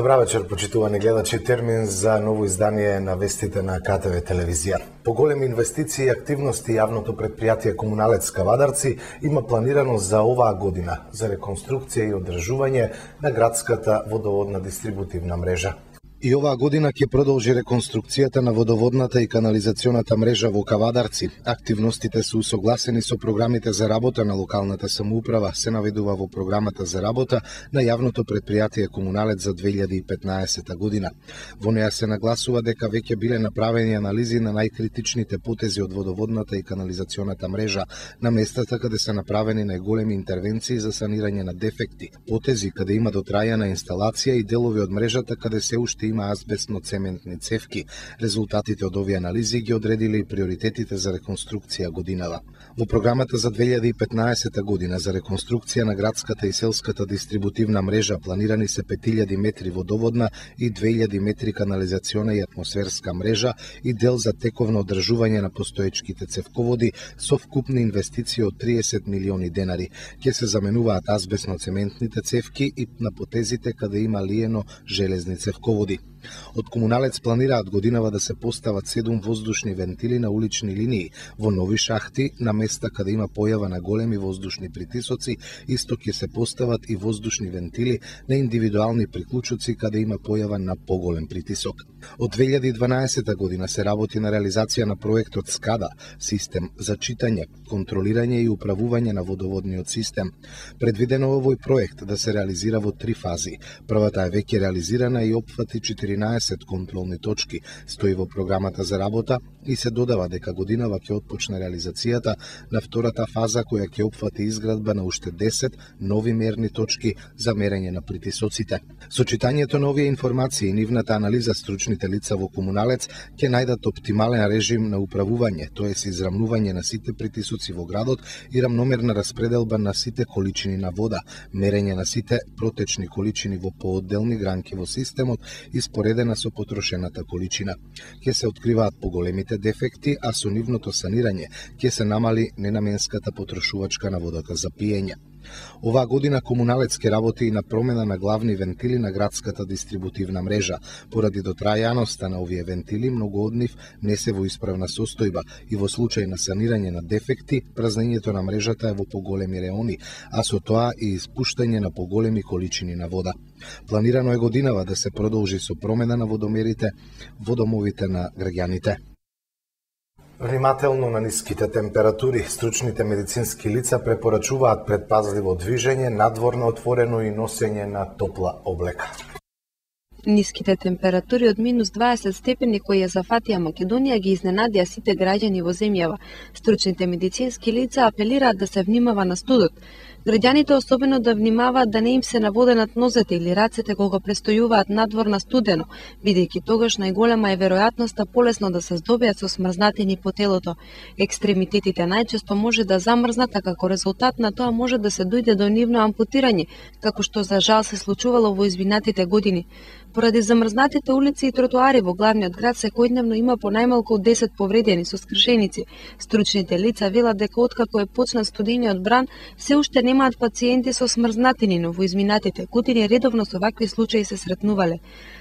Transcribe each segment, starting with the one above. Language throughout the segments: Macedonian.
Добра вечер, почитувани гледачи. Термин за ново издание на вестите на КТВ телевизија. По големи инвестиции и активности јавното претпријатие Комуналец Кавадарци има планирано за оваа година за реконструкција и одржување на градската водоводна дистрибутивна мрежа. И оваа година ќе продолжи реконструкцијата на водоводната и канализационата мрежа во Кавадарци. Активностите се усогласени со програмите за работа на локалната самоуправа, се наведува во програмата за работа на јавното претпријатие Комуналец за 2015 година. Во неа се нагласува дека веќе биле направени анализи на најкритичните потези од водоводната и канализационата мрежа на местата каде се направени најголеми интервенции за санирање на дефекти, потези каде има дотрајана инсталација и делови од мрежата каде се уште има азбестно-цементни цевки. Резултатите од овие анализи ги одредиле и приоритетите за реконструкција годинава. Во програмата за 2015 година за реконструкција на градската и селската дистрибутивна мрежа планирани се 5000 метри водоводна и 2000 метри канализациона и атмосферска мрежа и дел за тековно одржување на постоечките цевководи со вкупни инвестиции од 30 милиони денари. Ќе се заменуваат азбестно-цементните цевки и на потезите каде има лиено железни цевководи. Од Комуналец планираат годинава да се постават 7 воздушни вентили на улични линии во нови шахти на места каде има појава на големи воздушни притисоци, исто ќе се постават и воздушни вентили на индивидуални приклучоци каде има појава на поголем притисок. Од 2012 година се работи на реализација на проектот СКАДА, систем за читање, контролирање и управување на водоводниот систем. Предвидено овој проект да се реализира во 3 фази. Првата е веќе реализирана и опфати 14 контролни точки, стои во програмата за работа и се додава дека годинава ќе отпочне реализацијата на втората фаза која ќе опфати изградба на уште 10 нови мерни точки за мерење на притисоците. Со читањето на овие информации и нивната анализа стручните лица во Комуналец ќе најдат оптимален режим на управување, тоест израмнување на сите притисоци во градот и рамномерна распределба на сите количини на вода, мерење на сите протечни количини во поодделни гранки во системот и споредена со потрошената количина. Ќе се откриваат поголемите дефекти, а со нивното санирање ќе се намали ненаменската потрошувачка на водата за пиење. Оваа година Комуналец ќе работи и на промена на главни вентили на градската дистрибутивна мрежа. Поради дотрајаноста на овие вентили, многу од нив не се во исправна состојба и во случај на санирање на дефекти, празнењето на мрежата е во поголеми реони, а со тоа и испуштање на поголеми количини на вода. Планирано е годинава да се продолжи со промена на водомерите во домовите на граѓаните. Внимателно на ниските температури, стручните медицински лица препорачуваат предпазливо движење, надворно отворено и носење на топла облека. Ниските температури од минус 20 степени кои ја зафатија Македонија ги изненадија сите граѓани во земјава. Стручните медицински лица апелираат да се внимава на студот. Граѓаните особено да внимаваат да не им се наводенат нозете или рацете кога престојуваат надвор на студено, бидејќи тогаш најголема е веројатноста полесно да се здобиат со смрзнатини по телото. Екстремитетите најчесто може да замрзнат, а како резултат на тоа може да се дојде до нивно ампутирање, како што за жал се случувало во изминатите години. Поради замрзнатите улици и тротоари во главниот град секојдневно има по најмалку 10 повредени со скршеници. Стручните лица велат дека откако е почнат студениот бран, се уште немаат пациенти со смрзнатини, но во изминатите години редовно со вакви случаи се сретнувале.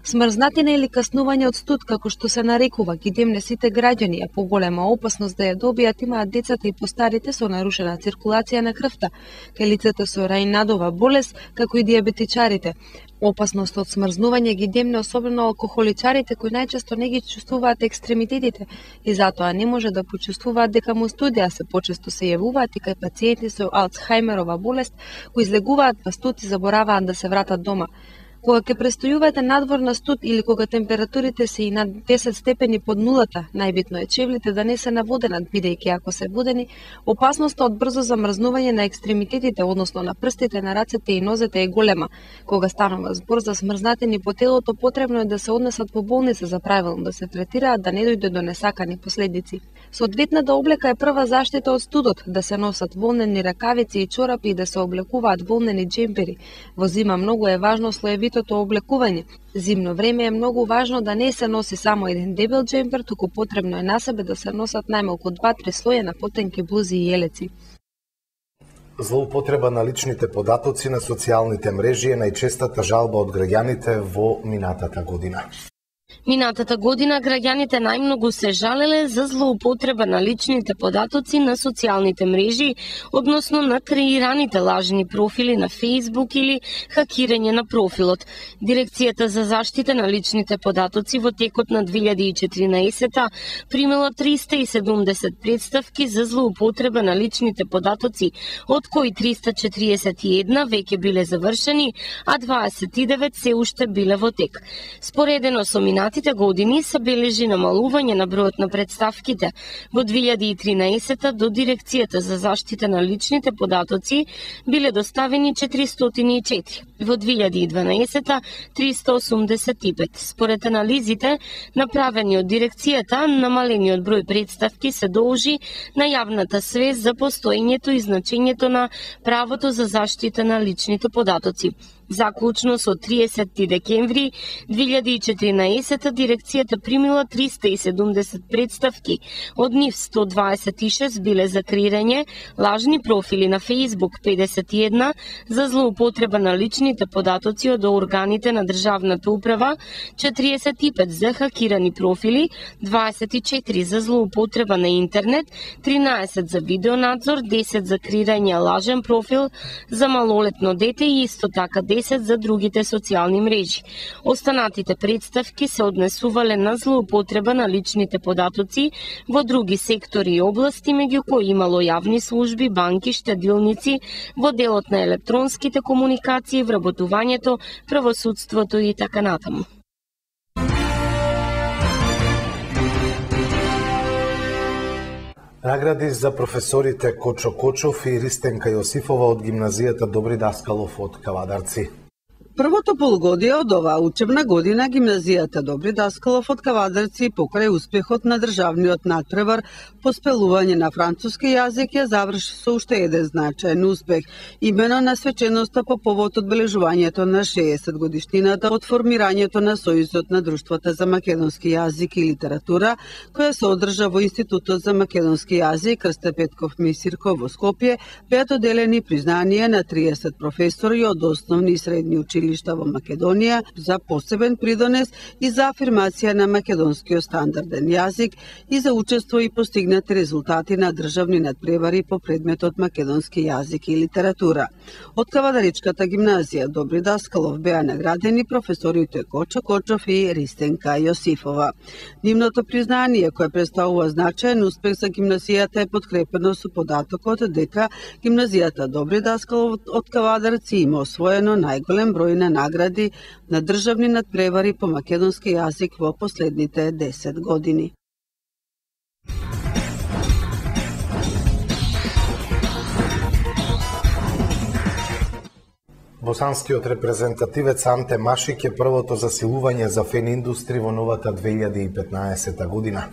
Смрзнатина или каснување од студ, како што се нарекува, ги демне сите граѓани, а поголема опасност да ја добијат имаат децата и постарите со нарушена циркулација на крвта, кај лицата со Рајнадова болест, како и диабетичарите. Опасност од смрзнување ги демне особено алкохоличарите кои најчесто не ги чувствуваат екстремитетите и затоа не може да почувствуваат дека му студија, се почесто се јавуваат и кај пациенти со Алцхајмерова болест кои излегуваат па студ и забораваат да се вратат дома. Кога ќе престојувате надвор на студ или кога температурите се и над 10 степени под нулата, најбитно е чевлите да не се наводенат, бидејќи ако се водени, опасноста од брзо замрзнување на екстремитетите, односно на прстите, на рацете и нозете е голема. Кога станува збор за смрзнатини по телото, потребно е да се однесат во болница за правилно да се третираат, да не дојде до несакани последици. Соодветната облека е прва заштита од студот, да се носат волнени ракавици и чорапи и да се облекуваат волнени џемпери. Во зима многу е важно слоевитото облекување. Зимно време е многу важно да не се носи само еден дебел џемпер, туку потребно е на себе да се носат најмалку 2-3 слоја на потенки блузи и елеци. Злоупотреба на личните податоци на социјалните мрежи е најчестата жалба од граѓаните во минатата година. Минатата година граѓаните најмногу се жалеле за злоупотреба на личните податоци на социјалните мрежи, односно на креираните лажни профили на Facebook или хакирање на профилот. Дирекцијата за заштита на личните податоци во текот на 2014 примила 370 представки за злоупотреба на личните податоци, од кои 341 веќе биле завршени, а 29 се уште биле во тек. Споредено со минатите години се бележи намалување на бројот на представките. Во 2013 до Дирекцијата за заштита на личните податоци биле доставени 404, во 2012 385. Според анализите направени од Дирекцијата, намалениот број представки се должи на јавната свест за постоењето и значењето на правото за заштита на личните податоци. Заклучно со 30 декември 2014 дирекцијата примила 370 представки, од нив 126 биле за креирање лажни профили на Facebook, 51 за злоупотреба на личните податоци од органите на државната управа, 45 за хакирани профили, 24 за злоупотреба на интернет, 13 за видеонадзор, 10 за креирање лажен профил за малолетно дете и исто така 10 за другите социјални мрежи. Останатите представки се однесувале на злоупотреба на личните податоци во други сектори и области, меѓу кои имало јавни служби, банки, штедилници, во делот на електронските комуникации, вработувањето, правосудството и така натаму. Награди за професорите Кочо Кочов и Ристенка Јосифова од гимназијата Добри Даскалов од Кавадарци. Првото полугодие од оваа учебна година гимназијата Добри Даскалов од Кавадарци покрај успехот на државниот надпревар по спелување на француски јазик ја заврши со уште еден значаен успех, имено на свеченоста по повод одбележувањето на 60 годишнината од формирањето на Сојузот на друштвата за македонски јазик и литература, која се одржа во Институтот за македонски јазик Крсте Петков Мисирко во Скопје, беа доделени признанија на 30 професори од основни и средни училишта во Македонија за посебен придонес и за афирмација на македонскиот стандарден јазик и за учество и постигнати резултати на државни надпревари по предметот македонски јазик и литература. Од Кавадаричката гимназија Добри Даскалов беа наградени професорите Кочо Кочов и Ристенка Јосифова. Нивното признание, кое представува значаен успех за гимназијата, е подкрепено со податокот дека гимназијата Добри Даскалов од Кавадарци има освоено најголем број на награди на државни надпревари по македонски јазик во последните 10 години. Босанскиот репрезентативец Анте Машик е првото засилување за фен индустри во новата 2015 година.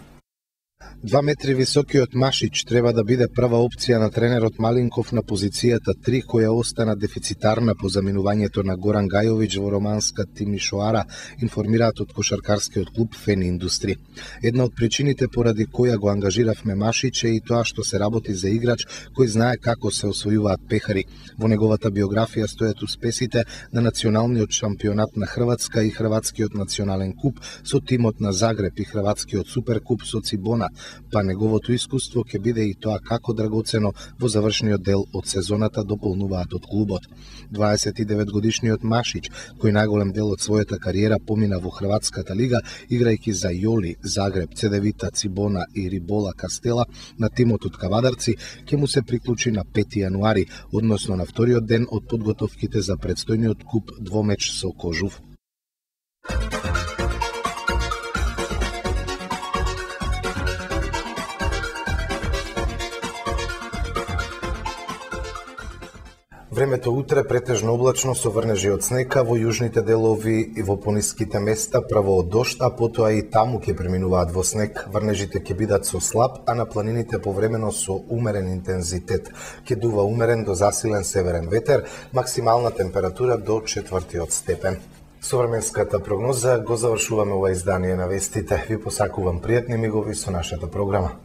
2 метри високиот Машич треба да биде прва опција на тренерот Малинков на позицијата 3, која остана дефицитарна по заминувањето на Горан Гајовиќ во романска Тимишоара, информираат од кошаркарскиот клуб Фен Индустри. Една од причините поради која го ангажиравме Машич е и тоа што се работи за играч кој знае како се освојуваат пехари. Во неговата биографија стојат успесите на националниот шампионат на Хрватска и Хрватскиот национален куп со тимот на Загреб и Хрватскиот суперкуп со Цибона, па неговото искуство ќе биде и тоа како драгоцено во завршниот дел од сезоната, дополнуваат од клубот. 29-годишниот Машич, кој најголем дел од својата кариера помина во Хрватската лига, играјќи за Јоли, Загреб, Цедевита, Цибона и Рибола Кастела на тимот од Кавадарци, ќе му се приклучи на 5 јануари, односно на вториот ден од подготовките за предстојниот куп двомеч со Кожув. Времето утре претежно облачно со врнежи од снега во јужните делови и во пониските места право од дожд, а потоа и таму ќе преминуваат во снег. Врнежите ќе бидат со слаб, а на планините повремено со умерен интензитет. Ќе дува умерен до засилен северен ветер, максимална температура до 4 степен. Со временската прогноза го завршуваме ова издание на вестите. Ви посакувам пријатни мигови со нашата програма.